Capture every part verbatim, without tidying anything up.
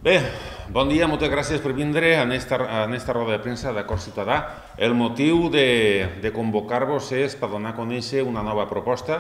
Bé, bon dia, moltes gràcies per vindre en esta, en esta roda de premsa d'Acord Ciutadà. El motiu de, de convocar-vos és per donar a conèixer una nova proposta,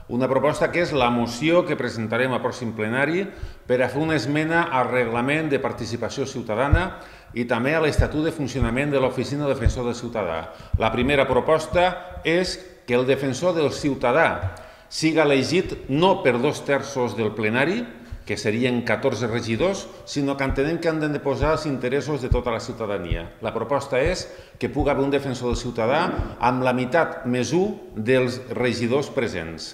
una proposta que és la moció que presentarem al pròxim plenari per a fer una esmena al reglament de participació ciutadana i també a l'Estatut de Funcionament de l'Oficina Defensor del Ciutadà. La primera proposta és que el defensor del ciutadà siga elegit no per dos terços del plenari, que serien catorze regidors, sinó que entenem que han de posar els interessos de tota la ciutadania. La proposta és que pugui haver un defensor del ciutadà amb la meitat més un dels regidors presents.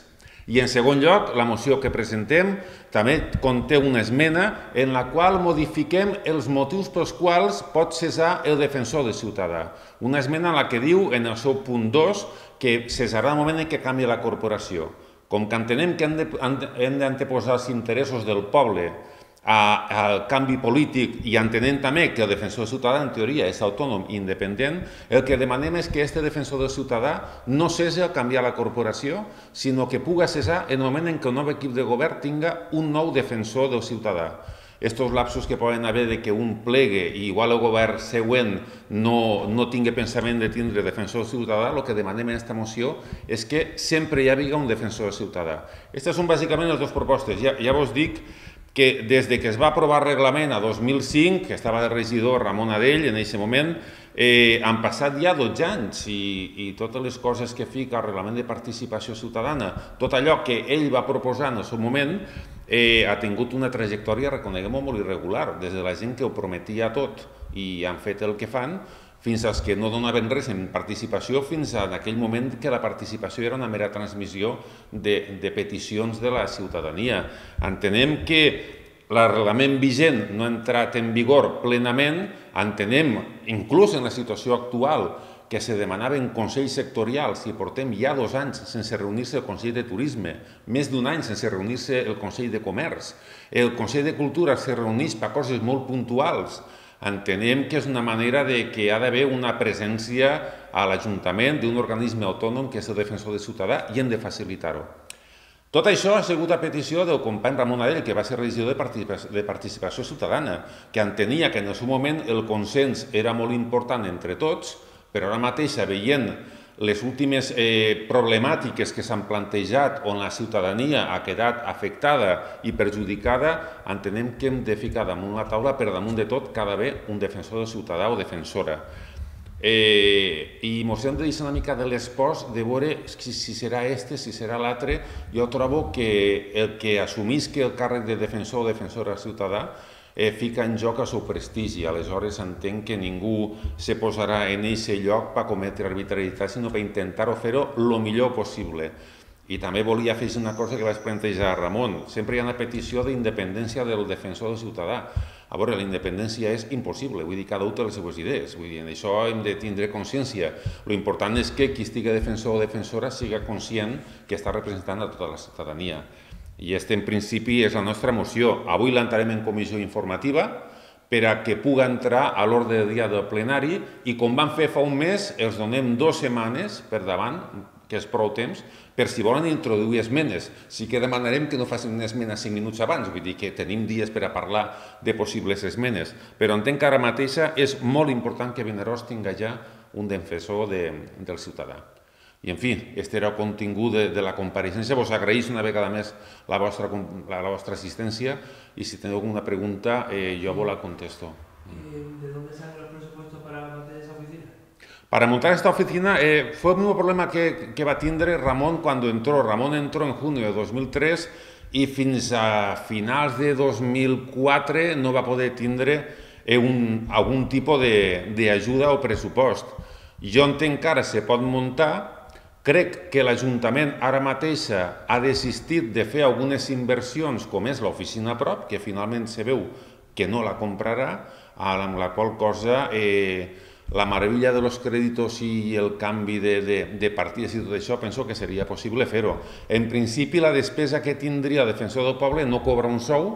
I en segon lloc, la moció que presentem també conté una esmena en la qual modifiquem els motius pels quals pot cessar el defensor del ciutadà. Una esmena en la que diu, en el seu punt dos, que cessarà el moment en què canvia la corporació. Com que entenem que hem d'anteposar els interessos del poble al canvi polític i entenem també que el defensor del ciutadà en teoria és autònom i independent, el que demanem és que aquest defensor del ciutadà no cessi a canviar la corporació, sinó que pugui cessar en el moment en què el nou equip de govern tinga un nou defensor del ciutadà. Estos lapsos que poden haver de que un plegue i igual el govern següent no, no tingui pensament de tindre defensor ciutadà, el que demanem en aquesta moció és que sempre hi hagi un defensor ciutadà. Aquestes són bàsicament les dues propostes. Ja, ja vos dic que des de que es va aprovar el reglament a dos mil cinc, que estava de regidor Ramon Adell en aquest moment, eh, han passat ja dotze anys i, i totes les coses que fica el reglament de participació ciutadana, tot allò que ell va proposar en el seu moment, eh, ha tingut una trajectòria, reconeguem-ho, molt irregular, des de la gent que ho prometia tot i han fet el que fan, fins als que no donaven res en participació, fins a aquell moment que la participació era una mera transmissió de, de peticions de la ciutadania. Entenem que l'arreglament vigent no ha entrat en vigor plenament, entenem, inclús en la situació actual, que se demanaven consells sectorials i portem ja dos anys sense reunir-se el Consell de Turisme, més d'un any sense reunir-se el Consell de Comerç, el Consell de Cultura se reuneix per coses molt puntuals. Entenem que és una manera de que ha d'haver una presència a l'Ajuntament d'un organisme autònom que és el defensor del ciutadà i hem de facilitar-ho. Tot això ha sigut a petició del company Ramon Adell, que va ser regidor de Participació Ciutadana, que entenia que en el seu moment el consens era molt important entre tots, però ara mateix, veient les últimes problemàtiques que s'han plantejat on la ciutadania ha quedat afectada i perjudicada, entenem que hem de ficar damunt la taula per damunt de tot cada vegada un defensor del ciutadà o defensora. I ens hem de deixar una mica de l'espost de veure si serà este, si serà l'altre. Jo trobo que el que assumisca el càrrec de defensor o defensora ciutadà fica en joc el seu prestigi. Aleshores entenc que ningú se posarà en aquest lloc per cometre arbitrarietat, sinó per intentar-ho fer-ho el millor possible. I també volia afegir una cosa que vaig plantejar a Ramon. Sempre hi ha una petició d'independència del defensor del ciutadà. A veure, la independència és impossible, vull dir, cada un té les seves idees, vull dir, en això hem de tindre consciència. L'important és que qui estigui defensor o defensora siga conscient que està representant a tota la ciutadania. I aquesta, en principi, és la nostra moció. Avui l'entrarem en comissió informativa per a que pugui entrar a l'ordre del dia del plenari i, com vam fer fa un mes, els donem dues setmanes per davant, que és prou temps, per si volen introduir esmenes. Sí que demanarem que no facin una esmena cinc minuts abans, vull dir que tenim dies per a parlar de possibles esmenes, però entenc que ara mateixa és molt important que Vinaròs tingui ja un defensor del ciutadà. I, en fi, aquest era el contingut de la compareixença. Vos agraïs una vegada més la vostra assistència i si teniu alguna pregunta jo vos la contesto. ¿De dónde salen los presupuestos para montar esa oficina? Para montar esta oficina fue el mismo problema que va a tindre Ramón cuando entró. Ramón entró en junio de dos mil tres i fins a finals de dos mil quatre no va poder tindre algun tipus d'ajuda o pressupost. Jo entenc que ara se pot muntar. Crec que l'Ajuntament ara mateix ha desistit de fer algunes inversions, com és l'oficina a prop, que finalment se veu que no la comprarà, amb la qual cosa la meravella dels crèdits i el canvi de partides i tot això, penso que seria possible fer-ho. En principi, la despesa que tindria el defensor del poble no cobra un sou,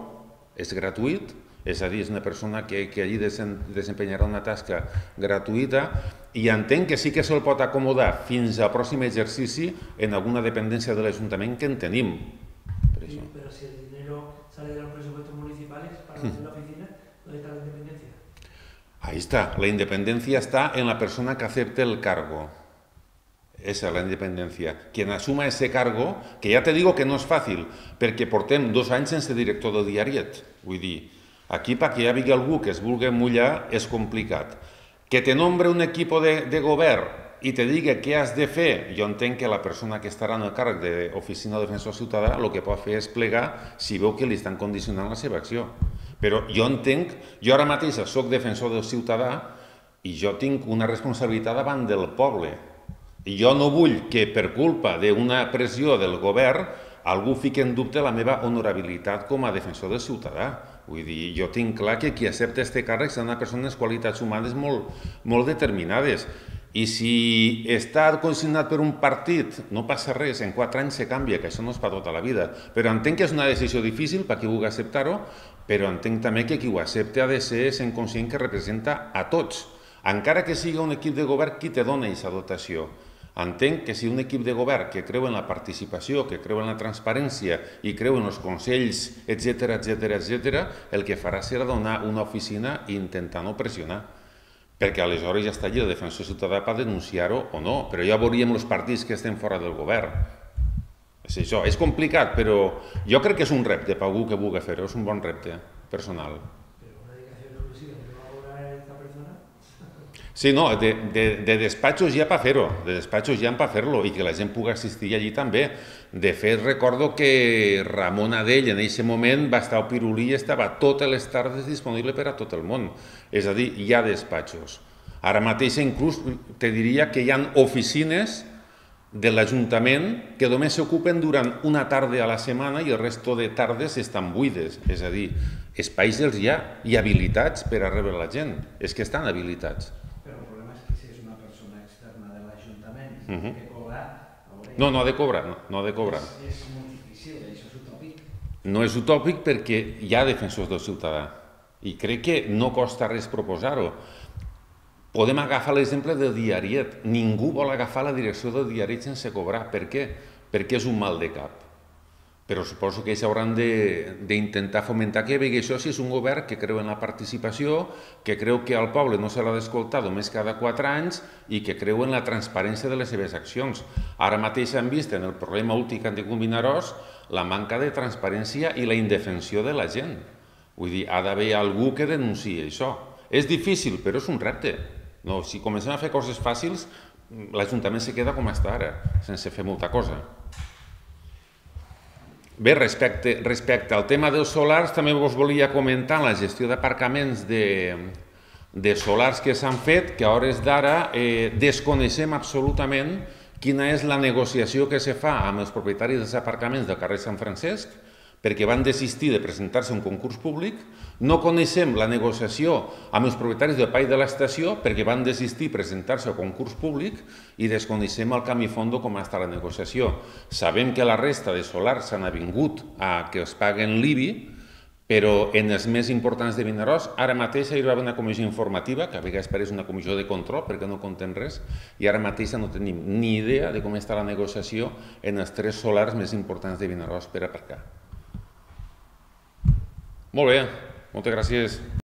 és gratuït, és a dir, és una persona que allí desempenyarà una tasca gratuïta i entenc que sí que se'l pot acomodar fins al pròxim exercici en alguna dependència de l'Ajuntament que en tenim. Pero si el dinero sale de los presupuestos municipales para hacer la oficina, ¿Dónde está la independencia? Ahí está, la independencia está en la persona que acepte el cargo. Esa es la independencia. Quien assuma ese cargo, que ja te digo que no és fàcil, perquè portem dos anys sense director de diariet. Vull dir, aquí perquè hi hagi algú que es vulgui mullar és complicat. Que te nombre un equip de, de govern i te digui què has de fer, jo entenc que la persona que estarà en el càrrec d'oficina de defensor ciutadà el que pot fer és plegar si veu que li estan condicionant la seva acció. Però jo entenc, jo ara mateix soc defensor del ciutadà i jo tinc una responsabilitat davant del poble. I jo no vull que per culpa d'una pressió del govern algú fiqui en dubte la meva honorabilitat com a defensor del ciutadà. Vull dir, jo tinc clar que qui accepta aquest càrrec són una persona amb qualitats humanes molt, molt determinades. I si està condicionat per un partit, no passa res, en quatre anys se canvia, que això no és per tota la vida. Però entenc que és una decisió difícil per qui vulgui acceptar-ho, però entenc també que qui ho accepta ha de ser sent conscient que representa a tots. Encara que sigui un equip de govern qui te dona aquesta dotació. Entenc que si un equip de govern que creu en la participació, que creu en la transparència i creu en els consells, etcètera, etcètera, etcètera, el que farà serà donar una oficina i intentar no pressionar. Perquè aleshores ja està allí el defensor ciutadà per denunciar-ho o no, però ja veuríem els partits que estem fora del govern. És això, és complicat, però jo crec que és un repte per algú que vulgui fer-ho, és un bon repte personal. ¿Pero una dedicación exclusiva que va a cobrar esta persona? Sí, no, de, de, de despatxos hi ha per fer-ho, de despatxos hi ha per fer-lo i que la gent pugui assistir allí també. De fet, recordo que Ramon Adell en aquest moment va estar al Pirulí i estava totes les tardes disponible per a tot el món. És a dir, hi ha despatxos. Ara mateix inclús te diria que hi ha oficines de l'Ajuntament que només s'ocupen durant una tarda a la setmana i el resto de tardes estan buides. És a dir, espais els hi ha i habilitats per a rebre la gent. És que estan habilitats. Però el problema és que si és una persona externa de l'Ajuntament i uh-huh. que cobrar... No, no ha de cobrar, no, no ha de cobrar. És, és molt difícil, això és utòpic. No és utòpic perquè hi ha defensors del ciutadà i crec que no costa res proposar-ho. Podem agafar l'exemple del diariet. Ningú vol agafar la direcció del diariet sense cobrar. Per què? Perquè és un mal de cap. Però suposo que ells hauran d'intentar fomentar que vegi això si és un govern que creu en la participació, que creu que al poble no se l'ha d'escoltar només cada quatre anys i que creu en la transparència de les seves accions. Ara mateix han vist en el problema últim que han tingut Vinaròs la manca de transparència i la indefensió de la gent. Vull dir, ha d'haver algú que denunciï això. És difícil, però és un repte. No, si comencem a fer coses fàcils, l'Ajuntament se queda com està ara, sense fer molta cosa. Bé, respecte, respecte al tema dels solars, també us volia comentar la gestió d'aparcaments de, de solars que s'han fet, que a hores d'ara eh, desconeixem absolutament quina és la negociació que se fa amb els propietaris dels aparcaments del carrer Sant Francesc, perquè van desistir de presentar-se a un concurs públic, no coneixem la negociació amb els propietaris del Parc de l'Estació perquè van desistir de presentar-se a concurs públic i desconeixem el camí fondo com està la negociació. Sabem que la resta de solars s'han avingut a que els paguen l'I B I, però en els més importants de Vinaròs, ara mateix hi va haver una comissió informativa, que a vegades pareix una comissió de control perquè no contem res, i ara mateix no tenim ni idea de com està la negociació en els tres solars més importants de Vinaròs per aparcar. Molt bé, moltes gràcies.